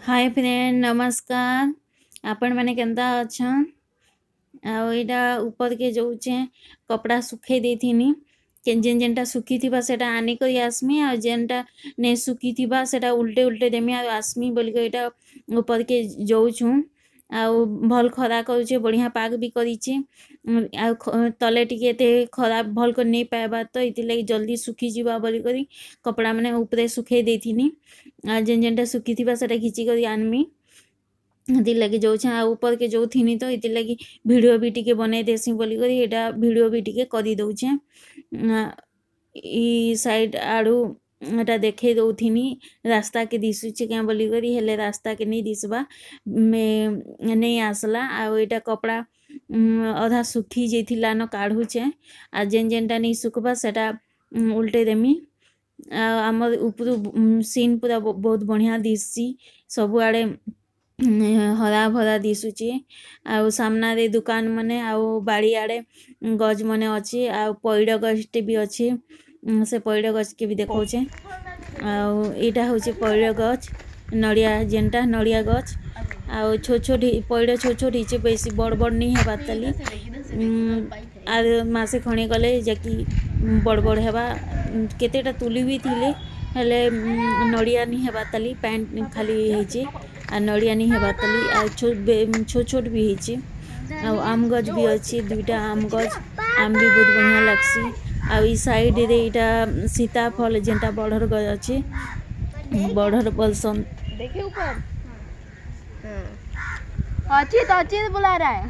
ହାଏ friend, ନମସ୍କାର। ଆପଣମାନେ କେନ୍ତା ଅଛନ୍? ଆଉ ଏଇଟା ଉପରକେ ଯାଉଛେ, କପଡ଼ା ଶୁଖେଇ ଦେଇଥିନି। ଯେନ୍ ଯେନ୍ଟା ଶୁଖିଥିବା ସେଟା ଆନିକରି ଆସ୍ମି, ଆଉ ଯେନ୍ଟା ନେଇ ଶୁଖିଥିବା ସେଟା ଉଲ୍ଟେ ଉଲ୍ଟେ ଦେମି ଆଉ ଆସ୍ମି ବୋଲିକରି ଏଇଟା ଉପରକେ ଯାଉଛୁଁ। ଆଉ ଭଲ୍ ଖରା କରୁଛେ, ବଢ଼ିଆ ପାଗ ବି କରିଛେ। ଆଉ ତଲେ ଟିକେ ଏତେ ଖରା ଭଲ୍ କରି ନେଇ ପାଏବାର୍, ତ ଏଥିର୍ଲାଗି ଜଲ୍ଦି ଶୁଖିଯିବା ବୋଲିକରି କପଡ଼ା ମାନେ ଉପରେ ଶୁଖେଇ ଦେଇଥିନି। ଆଉ ଯେନ୍ ଯେନ୍ଟା ଶୁଖିଥିବା ସେଟା ଘିଚିକରି ଆନ୍ମି, ହେଥିର୍ଲାଗି ଯାଉଛେଁ। ଆଉ ଉପରକେ ଯାଉଥିନି ତ ଏଥିର୍ଲାଗି ଭିଡ଼ିଓ ବି ଟିକେ ବନେଇ ଦେସି ବୋଲିକରି ଏଇଟା ଭିଡ଼ିଓ ବି ଟିକେ କରିଦଉଛେଁ। ଇ ସାଇଡ଼୍ ଆଡ଼ୁ ଏଟା ଦେଖେଇ ଦଉଥିନି, ରାସ୍ତାକେ ଦିଶୁଛେ କେଁ ବୋଲିକରି। ହେଲେ ରାସ୍ତାକେ ନେଇ ଦିଶବା, ନେଇ ଆସ୍ଲା। ଆଉ ଏଇଟା କପଡ଼ା ଅଧା ଶୁଖି ଯାଇଥିଲା ନ କାଢ଼ୁଛେଁ, ଆଉ ଯେନ୍ ଯେନ୍ଟା ନେଇ ଶୁଖ୍ବା ସେଟା ଉଲ୍ଟେଇ ଦେମି। ଆଉ ଆମର୍ ଉପରୁ ସିନ୍ ପୁରା ବହୁତ ବଢ଼ିଆ ଦିଶସି, ସବୁଆଡ଼େ ହରା ଭରା ଦିଶୁଛେ। ଆଉ ସାମ୍ନାରେ ଦୁକାନ ମାନେ ଆଉ ବାଡ଼ିଆଡ଼େ ଗଛ୍ ମାନେ ଅଛି, ଆଉ ପଇଡ଼ ଗଛଟେ ବି ଅଛି। ସେ ପଇଡ଼ ଗଛକେ ବି ଦେଖଉଛେ। ଆଉ ଏଇଟା ହଉଛେ ପଇଡ଼ ଗଛ, ନଡ଼ିଆ ଯେନ୍ଟା ନଡ଼ିଆ ଗଛ। ଆଉ ଛୋଟ ଛୋଟ ପଇଡ଼ ଛୋଟ ଛୋଟ ହେଇଛେ, ବେଶୀ ବଡ଼ ବଡ଼ ନି ହେବାର୍ ତାଲି। ଆର୍ ମାସେ ଖଣେ ଗଲେ ଯାକି ବଡ଼ ବଡ଼ ହେବା। କେତେଟା ତୁଲି ବି ଥିଲେ, ହେଲେ ନଡ଼ିଆ ନି ହେବାର୍ ତାଲି, ପାଏନ୍ ଖାଲି ହେଇଛେ ଆଉ ନଡ଼ିଆ ନି ହେବାର୍ ତାଲି। ଆଉ ଛୋଟ ଛୋଟ ବି ହେଇଛେ। ଆଉ ଆମ୍ ଗଛ୍ ବି ଅଛି, ଦୁଇଟା ଆମ୍ ଗଛ୍, ଆମ୍ ବି ବହୁତ ବଢ଼ିଆ ଲାଗ୍ସି। ଆଉ ଇ ସାଇଡ଼୍ରେ ଏଇଟା ସୀତାଫଲ୍ ଯେନ୍ଟା ବଢ଼ର ଗଛ୍ ଅଛି, ବଢ଼ର ବୋଲସନ୍। देखिए ऊपर। अचित, अचित बुला रहा है।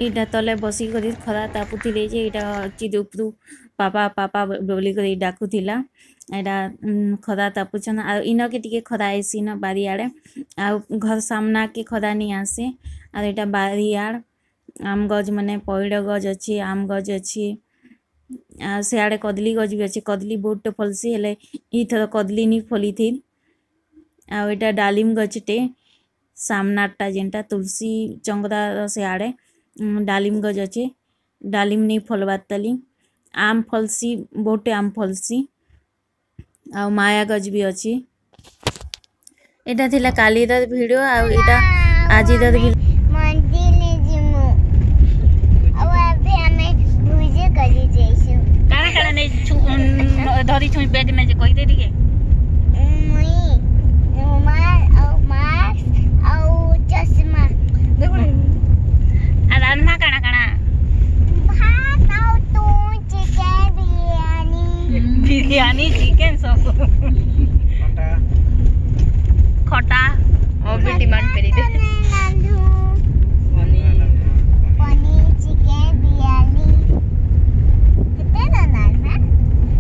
ଏଇଟା ତଲେ ବସିକରି ଖରା ତାପୁଥିଲେ ଯେ ଏଇଟା ଅଚିତ୍ ଉପରୁ ପାପା ପାପା ବୋଲିକରି ଡାକୁଥିଲା। ଏଇଟା ଖରା ତାପୁଛନ୍। ଆଉ ଇନକେ ଟିକେ ଖରା ଆଇସି ନ ବାରିଆଡ଼େ, ଆଉ ଘର ସାମ୍ନାକେ ଖରା ନି ଆସେ। ଆଉ ଏଇଟା ବାରିଆଡ଼ ଆମ୍ ଗଛ୍ ମାନେ, ପଇଡ଼ ଗଛ୍ ଅଛି, ଆମ୍ ଗଛ୍ ଅଛି, ଆଉ ସିଆଡ଼େ କଦଳୀ ଗଛ୍ ବି ଅଛି। କଦଳୀ ବହୁତଟେ ଫଲ୍ସି, ହେଲେ ଇଥର କଦଳୀ ନି ଫଲିଥି। ଆଉ ଏଇଟା ଡାଲିମ୍ ଗଛଟେ, ସାମ୍ନାରଟା ଯେନ୍ଟା ତୁଳସୀ ଚଙ୍ଗରାର ସିଆଡ଼େ ଡାଲିମ୍ ଗଛ ଅଛି, ଡାଲିମ୍ ନି ଫଲବାର୍ ତାଲି। ଆମ୍ ଫଲ୍ସି, ବହୁତଟେ ଆମ୍ ଫଲ୍ସି। ଆଉ ମାୟା ଗଛ ବି ଅଛି। ଏଇଟା ଥିଲା କାଲିର ଭିଡ଼ିଓ, ଆଉ ଏଇଟା ଆଜିର ବି। ମନ୍ଦିର ଯିମୁ, ଆଉ ଏବେ ଆମେ ଭୋଜି କରି ଯାଇଛୁ। କାଣା କାଣା ନେଇଛୁ, ଧରିଛୁ ବ୍ୟାଗ୍ ନେ ଯେ, କହିଦେ ଟିକେ। ମୁଇଁ ରୁମାଲ ଆଉ ମାସ୍କ ଆଉ ଚଷମା। ଆଉ ରାନ୍ଧମା କାଣା କାଣା? ଭାତ ଆଉ ତୁନ୍, ଚିକେନ ବିରିୟାନୀ। ବିରିୟାନୀ, ଚିକେନ, ସବୁ, ଖଟା। और भी डिमांड करी दे। ରାନ୍ଧୁ ପନିର, ଚିକେନ ବିରିୟାନୀ। କେତେ ରାନ୍ଧମା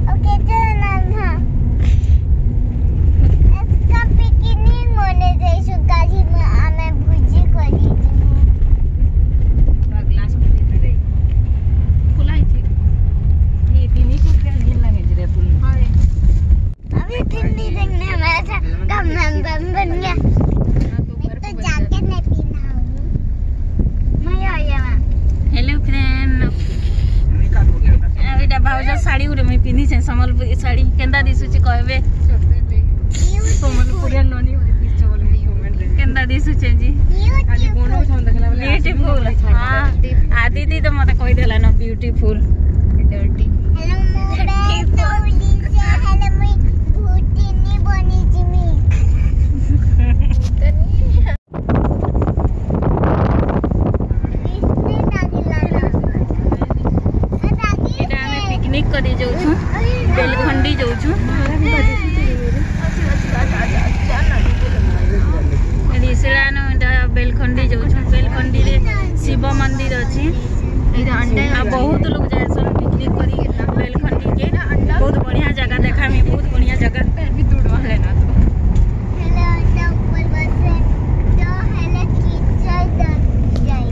ଆଉ କେତେ ରାନ୍ଧମା? ଏସକା ପିକନିକ ମନେ ଯାଇଛୁ, କାଲି ଆମେ ଭୋଜି କରି ଯିମୁ। ଗ୍ଲାସ ଖୋଲା ହେଇଛି। अभी ठंडी लगने हमारा था कम बम बन गया। मैं तो जाके नहीं पीना हूँ, मजा आ गया। ହ୍ୟାଲୋ ଫ୍ରେଣ୍ଡ, ଆଉ ଏଇଟା ଭାଉଜ ଶାଢ଼ୀ ଗୋଟେ ମୁଇଁ ପିନ୍ଧିଛେ, ସମ୍ବଲପୁରୀ ଶାଢ଼ୀ। କେନ୍ତା ଦିଶୁଛି କହିବେ? ସମ୍ବଲପୁରିଆ ନନି। କେନ୍ତା ଦିଶୁଛେ ଜି? ବ୍ୟୁଟିଫୁଲ। ହଁ, ଆଦିତି ତ ମତେ କହିଦେଲା ନ ବ୍ୟୁଟିଫୁଲ। ହେଲୋ, ମୁଁ ତଉଲିছে, ହେଲେ ମୁଇଁ ଭୁଟିନି ବନିଯିମି। ଏଇଟା ଆମେ ପିକନିକ କରି ଯାଉଛୁ, ବେଲଖଣ୍ଡି ଯାଉଛୁ। ରିସିଳାନୁ ଏଇଟା ବେଲଖଣ୍ଡି ଯାଉଛୁ। ବେଲଖଣ୍ଡିରେ ଶିବ ମନ୍ଦିର ଅଛି, ଆଉ ବହୁତ ଲୋକ ଯାଏସନ୍ ପିକନିକ କରି ବେଲଖଣ୍ଡିକେ। ବହୁତ ବଢ଼ିଆ ଜାଗା, ଦେખાମି, ବହୁତ ବଢ଼ିଆ ଜାଗା। ହେଲେ ଅଣ୍ଡା ଉପରେ ବସେ ତ ହେଲେ କିଚର ଯାଇ।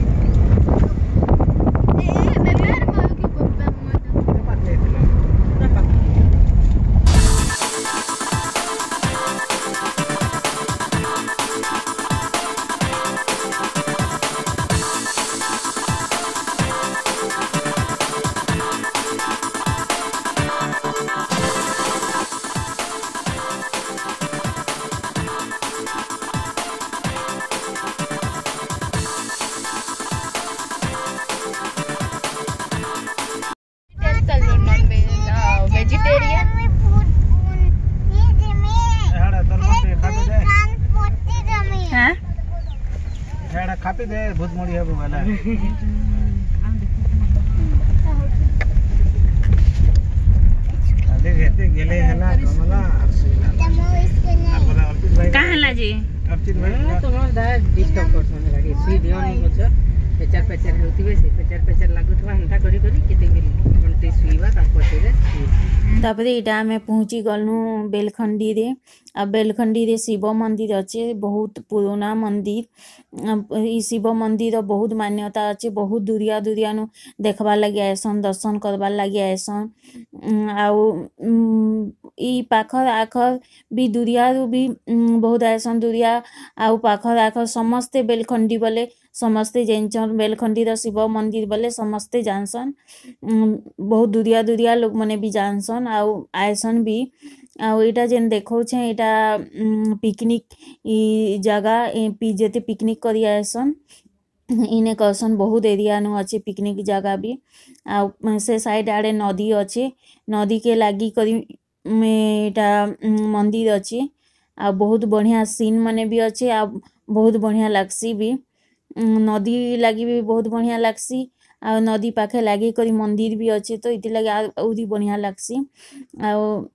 खापी दे भूत मुड़ी है वाला। अरे गेले हला कमला का हला जी अर्चित भाई तुम दा डिस्टर्ब करसन लागि सुई दियो नी बच्चा पेचर पेचर हेउथिबे से पेचर पेचर लागुथबा हंता करी करी केते बेल घंटे सुईबा ता पछे तापरे इटा आमे पहुंची गलनु बेलखंडी रे। आ बेलखंडी रे शिव मंदिर अच्छे, बहुत पुराना मंदिर। ई शिव मंदिर बहुत मान्यता अच्छे, बहुत दूरिया दूरिया नु देखबा लागि आएसन, दर्शन करबा लागि आएसन। आउ ई पाखर आखर भी दूरिया रु भी बहुत आएसन, दूरिया आउ पाखर आखर समस्ते बेलखंडी बोले समस्ते जानछन। बेलखंडी र शिव मंदिर बोले समस्ते जानसन, बहुत दूरिया दूरिया लोग मने भी जानसन आउ आएसन भी। आउ एटा जेन देखौछे एटा पिकनिक ई जगह जेते पिकनिक करी आएसन इने कहसन बहुत एरिया नु अच्छे पिकनिक जगह भी। आउ से साइड आड़े नदी अच्छे, नदी के लागी करी एटा मंदिर अच्छे। आ बहुत बढ़िया सीन मने भी अच्छे, आ बहुत बढ़िया लागसी भी, नदी लागी भी बहुत बढ़िया लागसी। आ नदी पाखे लागी करी मंदिर भी अच्छे, तो इति लागी आउरी बढ़िया लागसी। आउ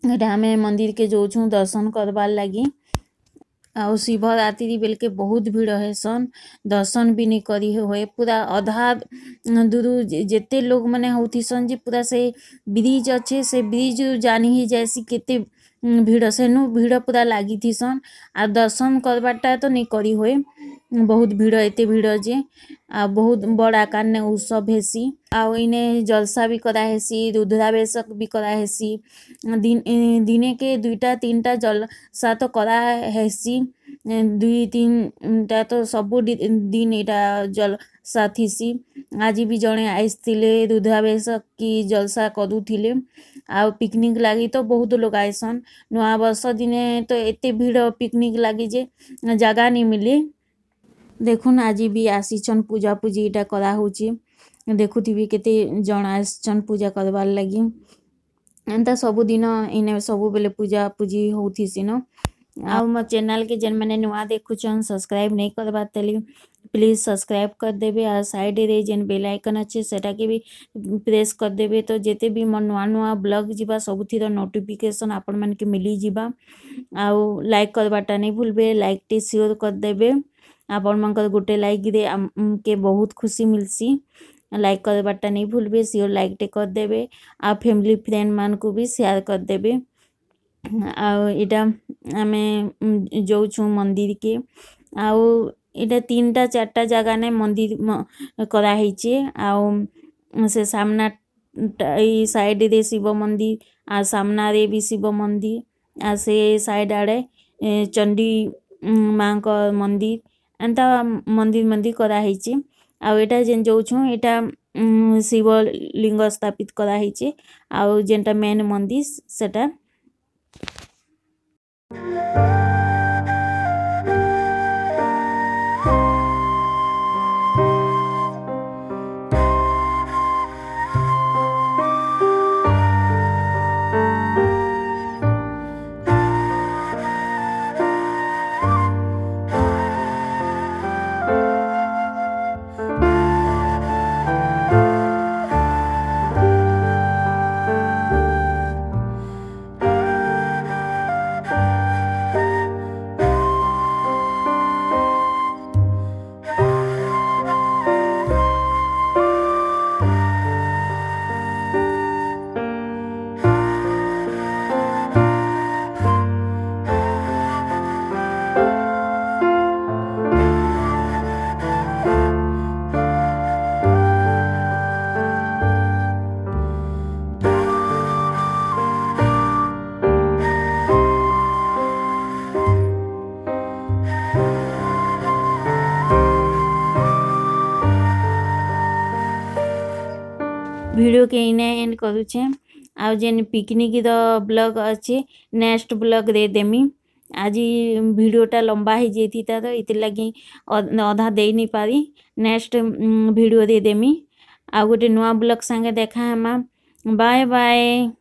एटा आमे मंदिर के जोछु दर्शन करबार लागी। आउ शिवरात्रि बेल के बहुत भीड़ हेसन, दर्शन भी नहीं करी होए, पूरा आधा दूर जेते लोग मने होथिसन जे पूरा से ब्रिज अच्छे से ब्रिज जानी ही जैसी केते भीड़ से नु भीड़ पूरा लागी थिसन। आ दर्शन करबाटा तो नहीं करी होए, बहुत भीड़ एते भीड़ जे आ बहुत बड़ आकार ने उत्सव हेसी। आउ इने जलसा भी करा हेसी, रुद्राभिषेक भी करा हेसी, दिने के दुईटा तीनटा जलसा तो करा हेसी, दुई तीनटा तो सबु दिन एटा जलसा थिसी। आज भी जणे आइसथिले रुद्राभिषेक की जलसा करूथिले। आउ पिकनिक लागि तो बहुत लोग आएसन, नया वर्ष दिने तो एते भीड़ पिकनिक लागि जे जगह नहीं मिले। देखुन आज भी आसीछन पूजा पूजी इटा करा होची, देखुथिबी केते जण आसीछन पूजा करबार लागि। एंता सबु दिन इने सबु बेले पूजा पूजी होथिसी न। आउ मो चैनल के जेन माने नुआ देखुछन सब्सक्राइब नहीं करबार तली प्लीज सब्सक्राइब कर देबे, आ साइड रे जेन बेल आइकन अच्छे सेटा के भी प्रेस कर देबे, तो जेते भी मोर नुआ नुआ ब्लॉग जिबा सबुथिर नोटिफिकेशन आपण मन के मिली जिबा। आउ लाइक करबाटा नहीं भूलबे, लाइक टे शेयर कर देबे, आपण मनकर गोटे लाइक they के बहुत खुशी मिलसी। लाइक करबाटा नहीं भूलबे, श्योर लाइक टे कर देबे, आ फैमिली फ्रेंड मान को भी शेयर कर देबे। आउ एटा आमे जाउछु मंदिर के, आउ एटा तीनटा चारटा जगह ने मंदिर करा हेचे। आउ से सामना ई साइड रे शिव मंदिर, आ सामना रे भी शिव मंदिर, आ से साइड आड़े चंडी मां को मंदिर, एंता मंदिर मंदिर करा हेचे। आउ एटा जेन जाउछु एटा शिव लिंग स्थापित करा हेचे, आउ जेनटा मेन मंदिर सेटा। वीडियो के इने एंड करूछे। आउ जेन पिकनिक र ब्लॉग अच्छे नेक्स्ट ब्लॉग रे देमी। आज भिडियोटा लंबा हो जाती तो इति लगी अधा दे नहीं पारी, नेक्स्ट भिडियो दे देमी। आ गोटे नुआ ब्लॉग संगे देखा हेमा। Bye bye.